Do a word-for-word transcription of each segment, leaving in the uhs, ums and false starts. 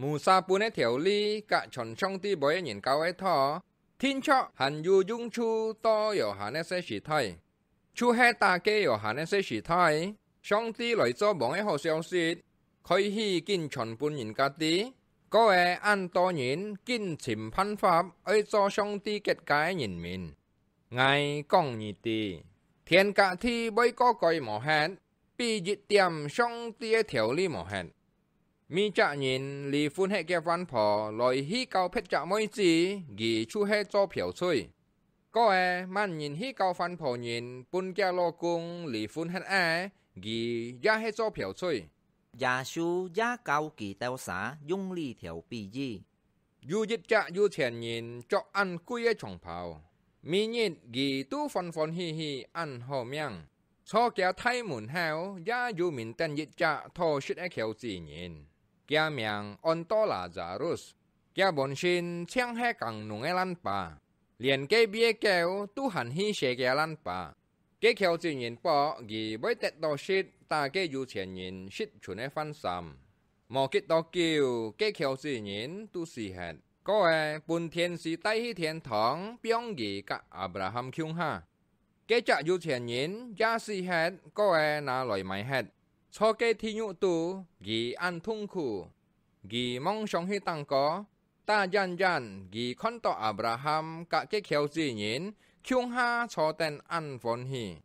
Mô-sa分个條例，甲全上帝會个人教个道，定著還有用處到約翰个細時代。就係打該約翰个細時代，上帝來做王个好消息，開始緊傳分人家知，過仔恁多人緊尋辦法愛做上帝結界个人民。𠊎講你知，天甲地會過改無忒，比一點上帝个條例無忒。 每隻人離婚忒个番婆來去交別隻妹子，佢就係做嫖妓。過仔，麼人去交番婆人分厥老公離婚忒仔，佢也係做嫖妓。耶穌也教佢兜儕用這條比喻。 有一隻有錢人著恁貴个長袍，每日佢都歡歡喜喜恁好命。坐厥大門口也有面等一隻討食个撟子人，厥名安到拉撒路斯。厥本身淨係耕農个爛耙，連隔壁个狗都還去舐厥爛耙。 該撟子人博佢會得著食打該有錢人食賰个飯糝。無幾多久，該撟子人都死忒，過仔分天使帶去天堂，放佢甲亞伯拉罕共下。該隻有錢人也死忒，過仔拿來埋忒，坐該地獄肚，佢恁痛苦。佢妄想去頂高， 打遠遠，佢看著亞伯拉罕甲該撟子人共下坐等恁歡喜。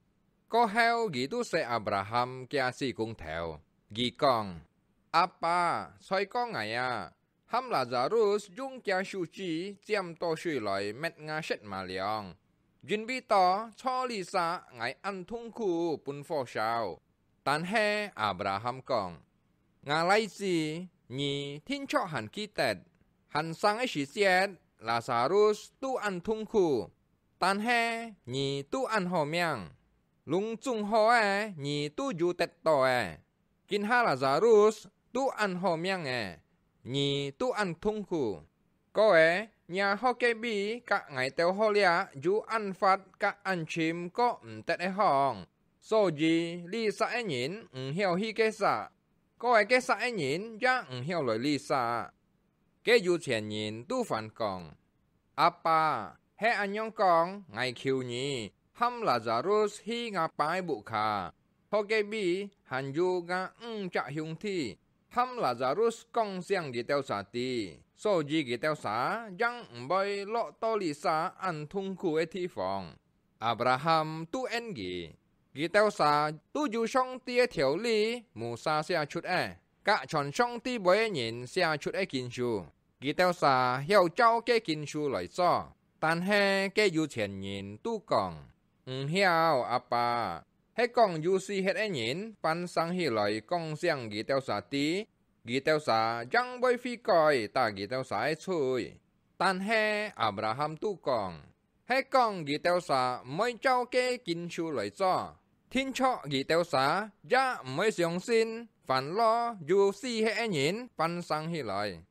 過後，佢都使亞伯拉罕厥死公頭。佢講：「阿爸，衰過𠊎啊！喊拉撒路斯用厥手指沾著水來搣吾舌嫲癢，因為到坐這儕𠊎恁痛苦分火燒。」 但係亞伯拉罕講：「吾倈子，你定著還記得，還生个時節，拉撒路斯都恁痛苦，但係你都恁好命。攏總好个，你都有得著个。今下拉撒路斯都恁好命个，你都恁痛苦。 過仔，若學个位甲𠊎兜學這有恁闊甲恁深過毋得个項，所以這儕个人毋曉去該儕，過仔該儕个人也毋曉來這儕。」該有錢人都還講：「阿爸，係恁樣講，𠊎求你，喊拉撒路斯去吾爸个屋下，學个位還有吾五隻兄弟， 喊拉撒路斯講聲佢兜儕知，所以佢兜儕正毋會落到這儕恁痛苦个地方。」亞伯拉罕都應佢：「佢兜儕都有上帝个條例，Moses寫出个，甲全上帝會个人寫出个經書，佢兜儕曉照該經書來做。」但係該有錢人都講：「毋曉，阿爸， 係講有死忒个人翻生起來講聲佢兜儕知，佢兜儕正會悔改打佢兜儕个罪。」但係亞伯拉罕都講：「係講佢兜儕毋會照該經書來做，定著佢兜儕也毋會相信，還老有死忒个人翻生起來。」